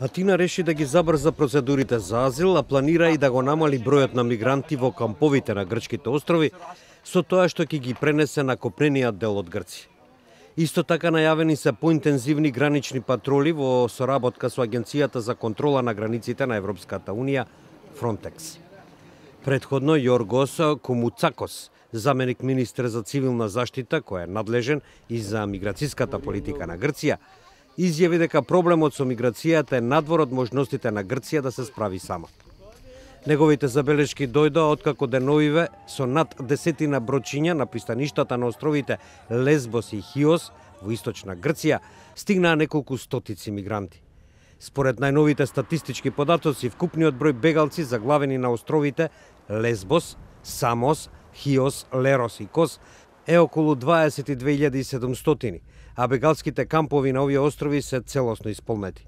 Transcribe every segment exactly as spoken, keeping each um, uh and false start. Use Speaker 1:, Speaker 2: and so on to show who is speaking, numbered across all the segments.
Speaker 1: Атина реши да ги забрза процедурите за азил, а планира и да го намали бројот на мигранти во камповите на грчките острови, со тоа што ќе ги пренесе на копнениот дел од Грција. Исто така најавени се поинтензивни гранични патроли во соработка со Агенцијата за контрола на границите на Европската Унија, Фронтекс. Предходно Јоргос Комуцакос, заменик министер за цивилна заштита, кој е надлежен и за миграцијската политика на Грција, изјави дека проблемот со миграцијата е надвор од можностите на Грција да се справи сама. Неговите забелешки дојдоа откако деновиве со над десетина брочиња на пристаништата на островите Лесбос и Хиос во источна Грција стигнаа неколку стотици мигранти. Според најновите статистички податоци, вкупниот број бегалци заглавени на островите Лесбос, Самос, Хиос, Лерос и Кос е околу дваесет и две илјади и седумстотини, а бегалските кампови на овие острови се целосно исполнети.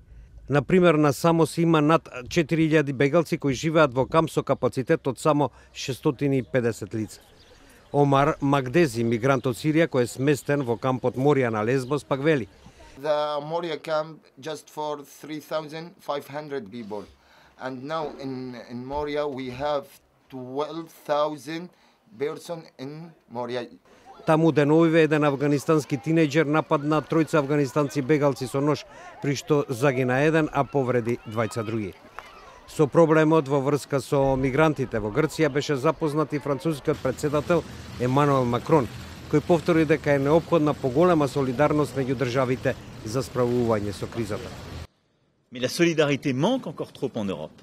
Speaker 1: Например, на Самос има над четири илјади бегалци кои живеат во камп со капацитет од само шестстотини и педесет лица. Омар Магдези, мигрант од Сирија кој е сместен во кампот Морија на Лесбос, пак вели:
Speaker 2: The Moria camp just for three thousand five hundred people, and now in in Moria we have twelve thousand person in Moria.
Speaker 1: Таму деновиве еден афганистански тинејџер нападна тројца афганистанци бегалци со нож, при што загина еден, а повреди двајца други. Со проблемот во врска со мигрантите во Грција беше запознат и францускиот председател Емануел Макрон, кој повтори дека е неопходна поголема солидарност меѓу државите за справување со кризата.
Speaker 3: Mais la solidarité manque encore trop en Europe.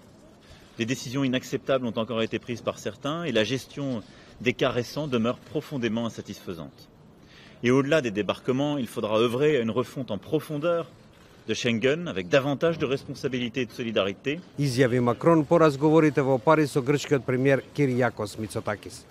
Speaker 3: Des décisions inacceptables ont encore été prises par certains et la gestion des cas récents demeure profondément insatisfaisante. Et au-delà des débarquements, il faudra œuvrer à une refonte en profondeur de Schengen avec davantage de responsabilité et de solidarité.
Speaker 1: Изјави Макрон по разговорите во Париз со грчкиот премиер Киријакос Мицотакис.